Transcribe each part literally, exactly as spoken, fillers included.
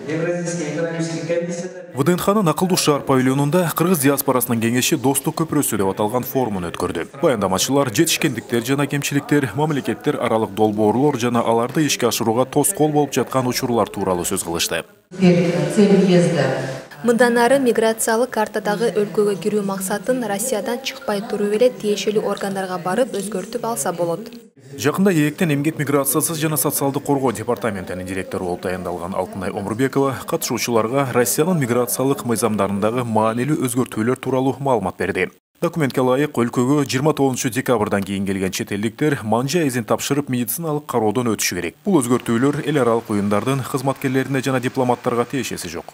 Евразийский экономический комиссия. ВДНХнын Акылдуу шаар павильонунда кыргыз диаспорасынын кеңеши Достук көпүрөсү деп аталган форумун өткөрдү. Баяндамачылар жетишкендиктер жана кемчиликтер, мамлекеттер аралык долбоорлор жана аларды ишке ашырууга тоскоол болуп жаткан учурлар тууралуу сөз кылышты. Цель въезда. Мындан ары миграциялык картадагы өлкөгө кирүү максатын Россиядан чыкпай туруп эле тиешелүү органдарга барып өзгөртүп алса болот. Жакында ээктен эмгек миграциясы жана социалдык коргоо департаментинин директору болуп таяндалган Алтынай Омурбекова катышуучуларга Россиянын миграциялык мыйзамдарындагы маанилүү өзгөртүүлөр тууралуу маалымат берди. Документке ылайык өлкөгө жыйырма тогузунчу декабрдан кийин келген чет элдиктер манжа эзин тапшырып медициналык кароодон өтүшү керек. Бул өзгөртүүлөр эл аралык уюмдардын кызматкерлерине жана дипломаттарга тиешеси жок.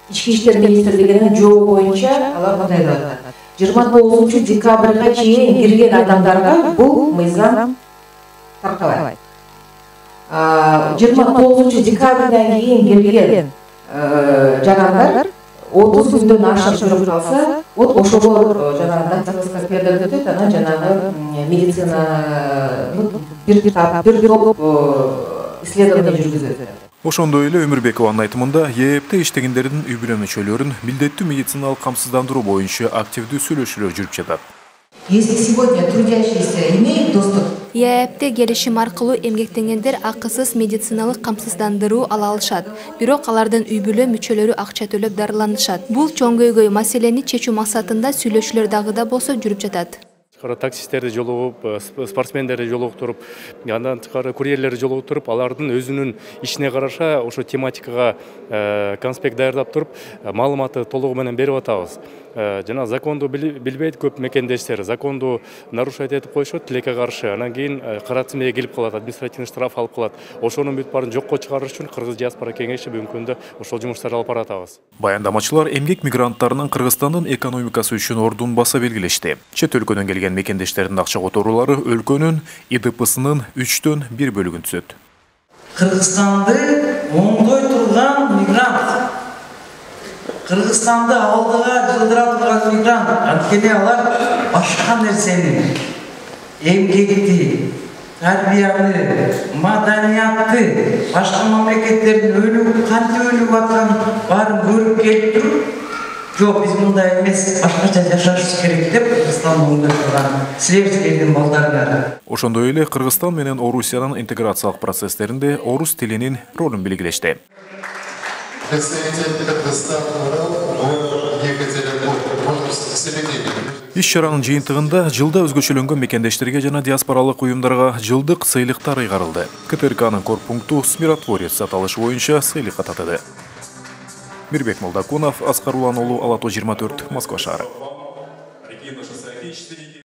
Ички иштер министрлигинин жообу боюнча алар мындай деп атат. жыйырма тогузунчу декабрга чейин кирген адамдарга бул мыйзам таркабайт. жыйырма тогузунчу декабрдан кийин келген жарандар отуз күндөн ашык жүрүп калса, вот ошого жанагы дактилоскопия перделеп өтөт, анан жанагы медицина бир тап бир топ исследование жүргүзөт. Ошондой эле Өмүрбекованын айтымында ЕЭПте иштегендердин үй бүлө мүчөлөрүн милдеттүү медициналык камсыздандыруу боюнча активдүү сүйлөшүүлөр жүрүп жатат. Если сегодня трудящиеся имеют доступ, ЕЭПте келишим аркылуу эмгектенгендер акысыз медициналык камсыздандыруу ала алышат. Бирок алардын үй бүлө мүчөлөрү акча төлөп дарыланышат. Бул чоңгөйгөй маселени чечүү максатында сүйлөшүүлөр дагы да болсо жүрүп жатат. Таксисттерди жолугуп, спортсмендерди жолуктуруп, андан тышкары курьерлерди жолуктуруп, алардын өзүнүн ишине караша ошо тематикага конспект даярдап туруп, маалыматты толугу менен берип атабыз. Жана законду билбейт көп мекендештер, законду нарушать этип коюшат тилекке каршы, анан кийин кара тизмеге келип калат, административный штраф алып калат. Ошонун бүт баарын жокко чыгарыш үчүн Кыргыз диаспора кеңеши бүгүнкү күндө ошол жумуштарды алып баратабыз. Баяндамачылар эмгек мигранттарынын Кыргызстандын экономикасы үчүн ордун баса белгилешти. Чет өлкөдөн келген мекендештердин акча которуулары өлкөнүн И Д П'сынын үчтөн бир бөлүгүн түзөт. Кыргызстанды оңдой турган мигрант. Кыргызстанды алдыга жылдыра турган мигрант. Анткени алар башка нерсени, эмгекти, тарбияны, маданиятты, башка мамлекеттердин өлүп, кантип өлүп атканын баарын көрүп келип туруп, жок, биз мындай эмес, башкача жашашыбыз керек деп Кыргызстанды оңдой турган Слевскийдин балдарына. Ошондой эле Кыргызстан менен Орусиянын интеграциялык процесстеринде орус тилинин ролун белгилешти. Иш-чаранын жыйынтыгында жылда өзгөчөлөнгөн мекендештерге жана диаспоралык уюмдарга жылдык сыйлыктар ыйгарылды. К Т Р К'нын корпункту «Миротворец» аталышы боюнча сыйлыкка татыды. Мирбек Молдокунов, Аскар Улан уулу, Ала то жыйырма төрт, Москва шаары.